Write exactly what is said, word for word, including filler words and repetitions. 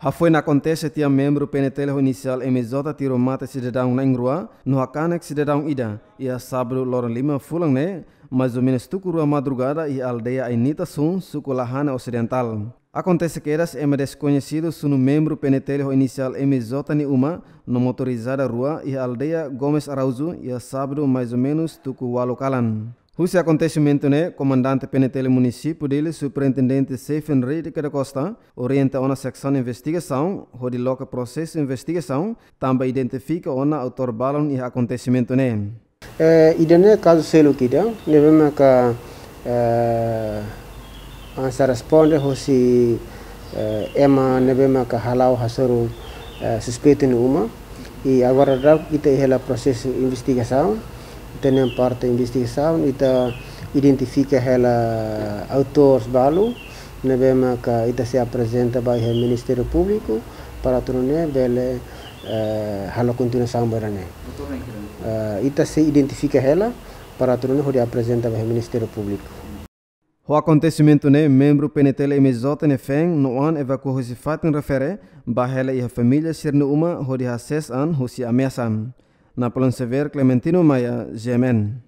Hafoin akontese tiha membru P N T L ho inisiál M J tiru mate sidadaun na'in-rua no hakanek sidadaun ida iha sábadu loron lima fulan ne'e, mais ou menus tuku rua madrugada iha aldeia Ainita Sun, suku Lahane Osidentál. Akontese kedas ema deskoñesidu sunu membru P N T L ho inisiál M J nia uma no motorizada rua iha aldeia Gomes Araújo iha sábadu mais ou menus tuku ualu kalan. Husi akontesimentu ne'e, Komandante P N T L Munisípiu Dili, Superintendente Sefen Reide da Costa, orienta ona seksaun investigasaun hodi loke prosesu investigasaun, tanba identifika ona autór balun iha akontesimentu ne'e. Eh, ida-ne'e kazu seluk ida, ne'ebé maka, eh, hanesan responde hosi, eh, ema ne'ebé maka hala'o hasoru, eh, suspeitu nia uma. I agora daudaun ita iha hela prosesu investigasaun, ita iha parte investigasaun, ita identifika hela autór balu, ne'ebé maka ita sei aprezenta ba iha Ministériu Públiku, para atu nune'e bele, eh, halo kontinuasaun ba ida-ne'e. Eh, ita sei identifika hela, para atu nune'e hodi aprezenta ba iha Ministériu Públiku. Ho akontesimentu ne'e, membru P N T L M J ne'e feen no an evakua husi fatin refere, ba hela iha família sira-nia uma hodi hasees an husi ameasa. Napoleon Xavier, Clementino Maia, G M N.